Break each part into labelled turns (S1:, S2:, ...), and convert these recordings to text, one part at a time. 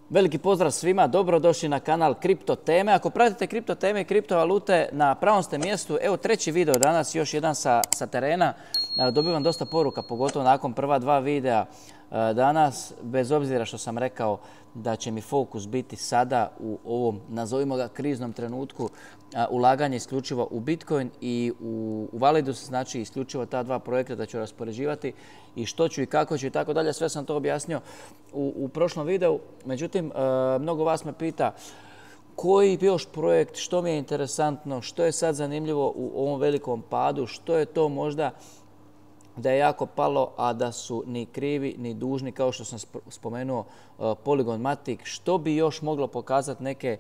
S1: Veliki pozdrav svima, dobrodošli na kanal Kripto teme. Ako pratite kripto teme i kriptovalute, na pravom ste mjestu. Evo treći video danas, još jedan sa terena. Dobivam dosta poruka, pogotovo nakon prva dva videa danas, bez obzira što sam rekao da će mi fokus biti sada u ovom, nazovimo ga, kriznom trenutku, ulaganje isključivo u Bitcoin i u Validus, znači isključivo ta dva projekta da ću raspoređivati i što ću i kako ću i tako dalje. Sve sam to objasnio u prošlom videu. Međutim, mnogo vas me pita koji još projekt, što mi je interesantno, što je sad zanimljivo u ovom velikom padu, što je to možda da je jako palo, a da su ni krivi ni dužni, kao što sam spomenuo Polygon Matic, što bi još moglo pokazati neke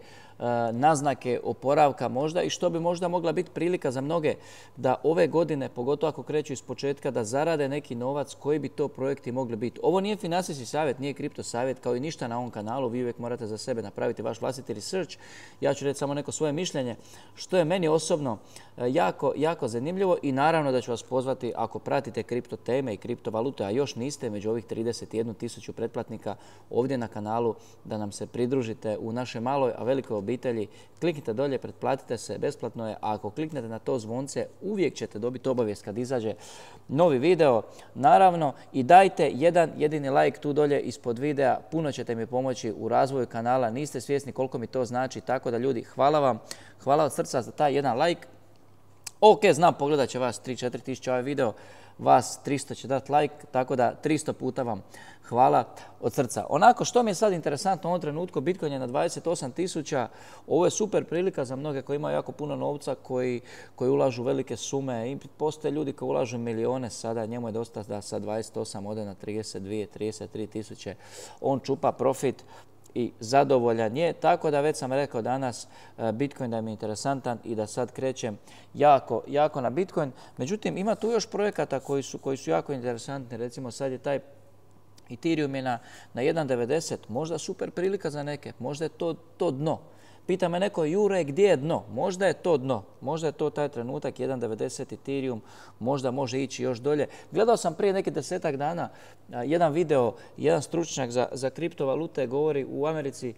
S1: naznake oporavka možda i što bi možda mogla biti prilika za mnoge da ove godine, pogotovo ako kreću iz početka, da zarade neki novac, koji bi to projekti mogli biti. Ovo nije financijski savjet, nije kripto savjet, kao i ništa na ovom kanalu. Vi uvijek morate za sebe napraviti vaš vlastiti research. Ja ću reći samo neko svoje mišljenje, što je meni osobno jako zanimljivo i naravno da ću vas pozvati, ako pratite kripto teme i kriptovalute, a još niste među ovih 31.000 pretplatnika ovdje na kanalu, da nam se pridružite u našoj maloj, a velikoj obitelji. Kliknite dolje, pretplatite se, besplatno je, a ako kliknete na to zvonce, uvijek ćete dobiti obavijest kad izađe novi video. Naravno, i dajte jedan jedini like tu dolje ispod videa, puno ćete mi pomoći u razvoju kanala, niste svjesni koliko mi to znači, tako da ljudi, hvala vam, hvala od srca za taj jedan like. Ok, znam, pogledat će vas 3-4 tisuće ovaj video, vas 300 će dati like, tako da 300 puta vam hvala od srca. Onako, što mi je sad interesantno u ovom trenutku, Bitcoin je na 28.000, ovo je super prilika za mnoge koji imaju jako puno novca, koji ulažu velike sume. I postoje ljudi koji ulažu milijone sada, njemu je dosta da sa 28 ode na 32-33 tisuće. On čupa profit i zadovoljan je, tako da već sam rekao danas Bitcoin da mi je interesantan i da sad krećem jako na Bitcoin. Međutim, ima tu još projekata koji su jako interesantni. Recimo sad je taj Ethereum je na 1.90, možda super prilika za neke, možda je to dno. Pita me neko, Jure, gdje je dno? Možda je to dno, možda je to taj trenutak, 1.90 Ethereum, možda može ići još dolje. Gledao sam prije nekih 10-ak dana jedan video, jedan stručnjak za kriptovalute govori u Americi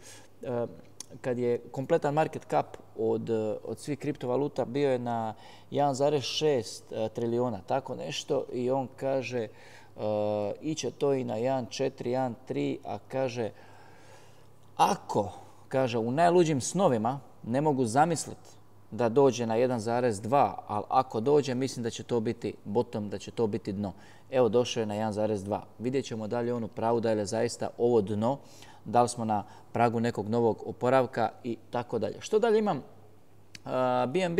S1: kad je kompletan market cap od svih kriptovaluta bio je na 1,6 trilijuna, tako nešto, i on kaže iće to i na 1,4, 1,3, a kaže, u najluđim snovima ne mogu zamisliti da dođe na 1,2, ali ako dođe, mislim da će to biti bottom, da će to biti dno. Evo, došao je na 1,2. Vidjet ćemo da li je on u pravu, da li je zaista ovo dno, da li smo na pragu nekog novog oporavka i tako dalje. Što dalje imam? BNB.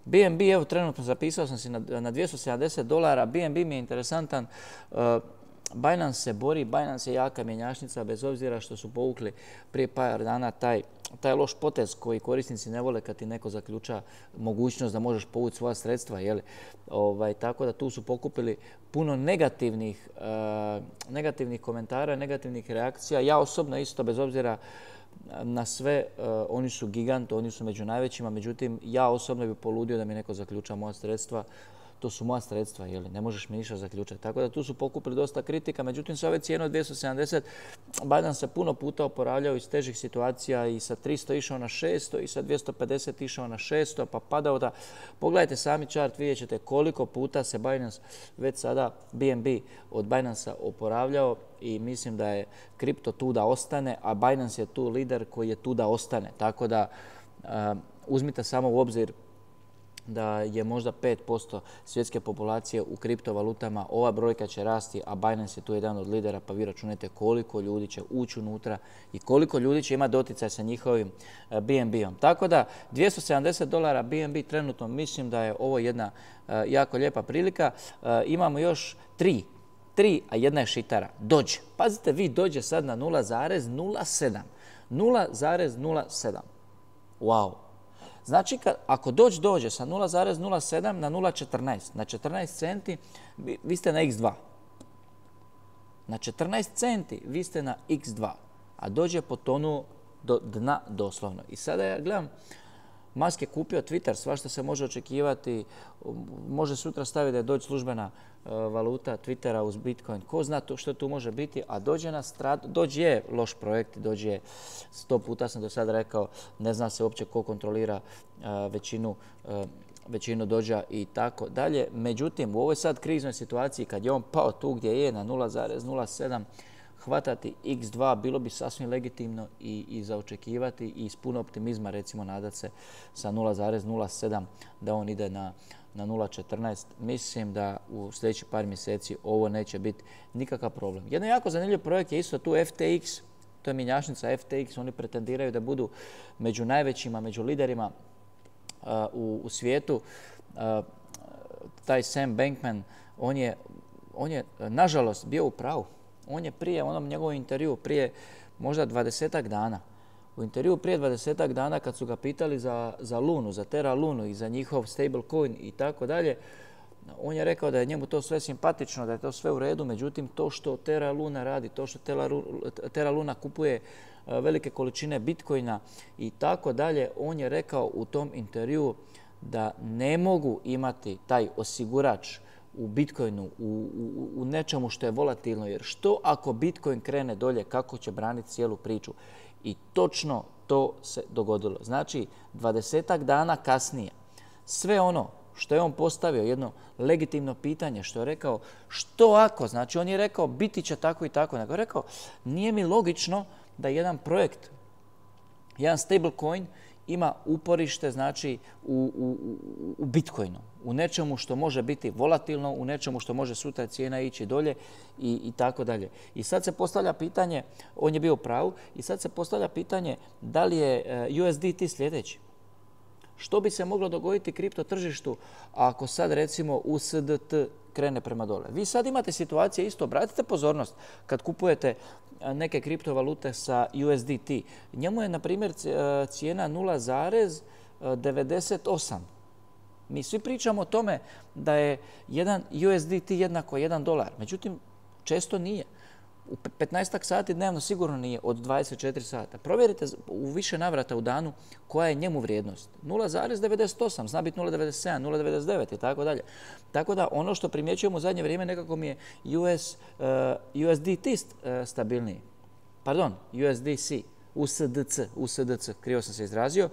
S1: BNB, evo trenutno zapisao sam si na $270. BNB mi je interesantan. Binance se bori, Binance je jaka mjenjačnica, bez obzira što su povukli prije par dana taj loš potez koji korisnici ne vole kad ti neko zaključa mogućnost da možeš povući svoja sredstva. Tako da tu su pokupili puno negativnih komentara, negativnih reakcija. Ja osobno isto, bez obzira na sve, oni su gigant, oni su među najvećima, međutim ja osobno bih poludio da mi neko zaključa moja sredstva. To su moja sredstva, ne možeš mi ništa zaključati. Tako da tu su pokupili dosta kritika, međutim sa ove cijene od 270 Binance se puno puta oporavljao iz težih situacija i sa 300 išao na 600 i sa 250 išao na 600 pa padao da. Pogledajte sami chart, vidjet ćete koliko puta se Binance već sada BNB od Binance-a oporavljao i mislim da je kripto tu da ostane, a Binance je tu lider koji je tu da ostane. Tako da uzmite samo u obzir da je možda 5% svjetske populacije u kriptovalutama, ova brojka će rasti, a Binance je tu jedan od lidera, pa vi računajte koliko ljudi će ući unutra i koliko ljudi će imati doticaj sa njihovim BNB-om. Tako da $270 BNB trenutno, mislim da je ovo jedna jako lijepa prilika. Imamo još tri, a jedna je šitara. Doge. Pazite, vi Doge sad na 0,07. 0,07. Wow. Znači, ako dođe sa 0,07 na 0,14, na 14 centi, vi ste na x2. Na 14 centi vi ste na x2, a dođe potonuo do dna doslovno. I sada ja gledam Musk je kupio Twitter, svašta se može očekivati. Može sutra staviti da je Doge službena valuta Twittera uz Bitcoin. Ko zna što tu može biti, a Doge je loš projekt. Doge je, 100 puta sam do sada rekao, ne zna se uopće ko kontrolira većinu Dođa i tako dalje. Međutim, u ovoj sad kriznoj situaciji, kad je on pao tu gdje je na 0,07, hvatati X2 bilo bi sasvim legitimno i za očekivati i s puno optimizma, recimo, nadat se sa 0,07 da on ide na 0,14. Mislim da u sljedećih par mjeseci ovo neće biti nikakav problem. Jedan jako zanimljiv projekt je isto tu FTX, to je mjenjačnica FTX, oni pretendiraju da budu među najvećima, među liderima u svijetu. Taj Sam Bankman, on je nažalost bio u pravu. On je prije onom njegovom intervju, prije možda 20-ak dana, u intervju prije 20-ak dana kad su ga pitali za Lunu, za Terra Lunu i za njihov stablecoin i tako dalje, on je rekao da je njemu to sve simpatično, da je to sve u redu, međutim to što Terra Luna radi, to što Terra Luna kupuje velike količine bitcoina i tako dalje, on je rekao u tom intervju da ne mogu imati taj osigurač u Bitcoinu, u nečemu što je volatilno, jer što ako Bitcoin krene dolje, kako će braniti cijelu priču? I točno to se dogodilo. Znači, 20-ak dana kasnije, sve ono što je on postavio, jedno legitimno pitanje, što je rekao, što ako, znači on je rekao biti će tako i tako, nego je rekao, nije mi logično da jedan projekt, jedan stablecoin ima uporište, znači, u Bitcoinu, u nečemu što može biti volatilno, u nečemu što može sutra cijena ići dolje i tako dalje. I sad se postavlja pitanje, on je bio u pravu, i sad se postavlja pitanje da li je USDT sljedeći. Što bi se moglo dogoditi kripto tržištu ako sad recimo USDT krene prema dole? Vi sad imate situacije isto, obratite pozornost kad kupujete neke kriptovalute sa USDT. Njemu je, na primjer, cijena 0,98. Mi svi pričamo o tome da je jedan USDT jednako $1. Međutim, često nije. U 15 sati dnevno sigurno nije od 24 sata. Provjerite u više navrata u danu koja je njemu vrijednost. 0,98, zna biti 0,97, 0,99 i tako dalje. Tako da ono što primjećujemo u zadnje vrijeme nekako mi je USDT stabilniji. Pardon, USDC, USDC, krivo sam se izrazio.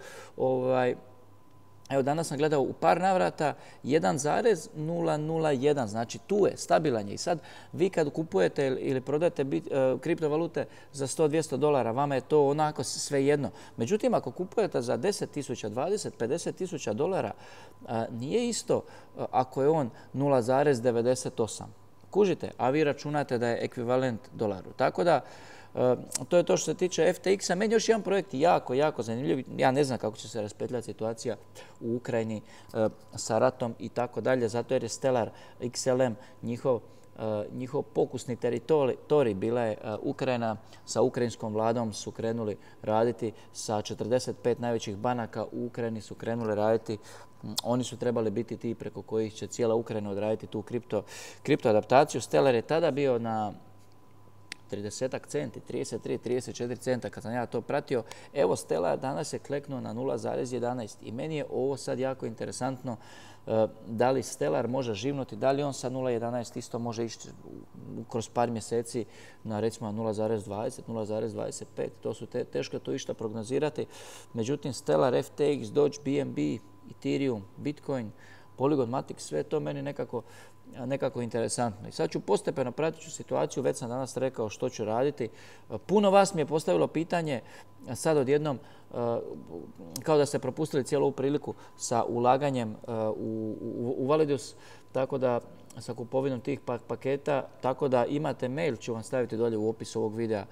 S1: Evo, danas sam gledao u par navrata 1,001, znači tu je, stabilan je. I sad vi kad kupujete ili prodajete kriptovalute za $100-200, vama je to onako svejedno. Međutim, ako kupujete za 10.000, 20, 50.000 dolara, nije isto ako je on 0,98. Kužite, a vi računate da je ekvivalent dolaru. Tako da, to je to što se tiče FTX-a. Meni još jedan projekt jako, jako zanimljiv. Ja ne znam kako će se raspetljati situacija u Ukrajini sa ratom i tako dalje, zato jer je Stellar XLM njihov pokusni teritorij. Bila je Ukrajina, sa ukrajinskom vladom su krenuli raditi, sa 45 najvećih banaka u Ukrajini su krenuli raditi. Oni su trebali biti ti preko kojih će cijela Ukrajina odraditi tu kripto adaptaciju. Stellar je tada bio na 30 centi, 33, 34 centa kad sam ja to pratio. Evo, Stellar danas je kleknuo na 0,11 i meni je ovo sad jako interesantno da li Stellar može živnuti, da li on sa 0,11 isto može ići kroz par mjeseci na recimo 0,20, 0,25. To su teško to išta prognozirati. Međutim, Stellar, FTX, Doge, BNB, Ethereum, Bitcoin, Polygon Matic, sve to meni nekako interesantno. I sad ću postepeno pratit situaciju, već sam danas rekao što ću raditi. Puno vas mi je postavilo pitanje sad odjednom, kao da ste propustili cijelu ovu priliku sa ulaganjem u Validus, tako da sa kupovinom tih paketa, tako da imate mail, ću vam staviti dolje u opisu ovog videa.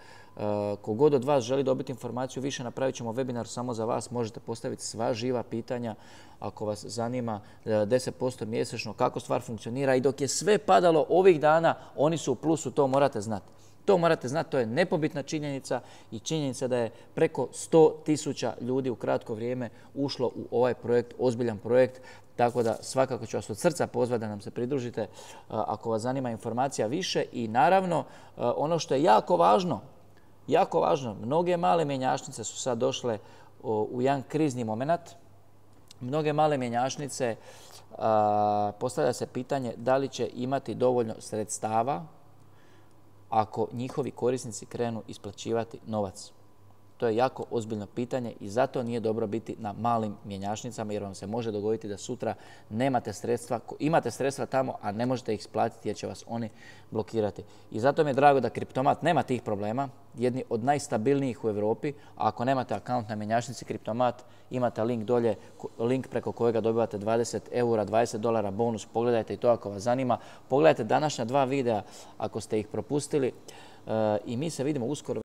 S1: Kogod od vas želi dobiti informaciju više, napravit ćemo webinar samo za vas. Možete postaviti sva živa pitanja ako vas zanima 10% mjesečno kako stvar funkcionira. I dok je sve padalo ovih dana, oni su u plusu, to morate znati. To morate znati, to je nepobitna činjenica i činjenica da je preko 100.000 ljudi u kratko vrijeme ušlo u ovaj projekt, ozbiljan projekt. Tako da svakako ću vas od srca pozvati da nam se pridružite ako vas zanima informacija više. I naravno, ono što je jako važno, mnoge male mjenjačnice su sad došle u jedan krizni moment. Mnoge male mjenjačnice postavlja se pitanje da li će imati dovoljno sredstava ako njihovi korisnici krenu isplaćivati novac. To je jako ozbiljno pitanje i zato nije dobro biti na malim mjenjačnicama jer vam se može dogoditi da sutra nemate sredstva, imate sredstva tamo, a ne možete ih isplatiti jer će vas oni blokirati. I zato mi je drago da Kriptomat nema tih problema, jedni od najstabilnijih u Europi, a ako nemate akaunt na mjenjačnici Kriptomat, imate link dolje, link preko kojega dobivate 20 eura, $20 bonus, pogledajte i to ako vas zanima. Pogledajte današnja 2 videa ako ste ih propustili i mi se vidimo uskoro.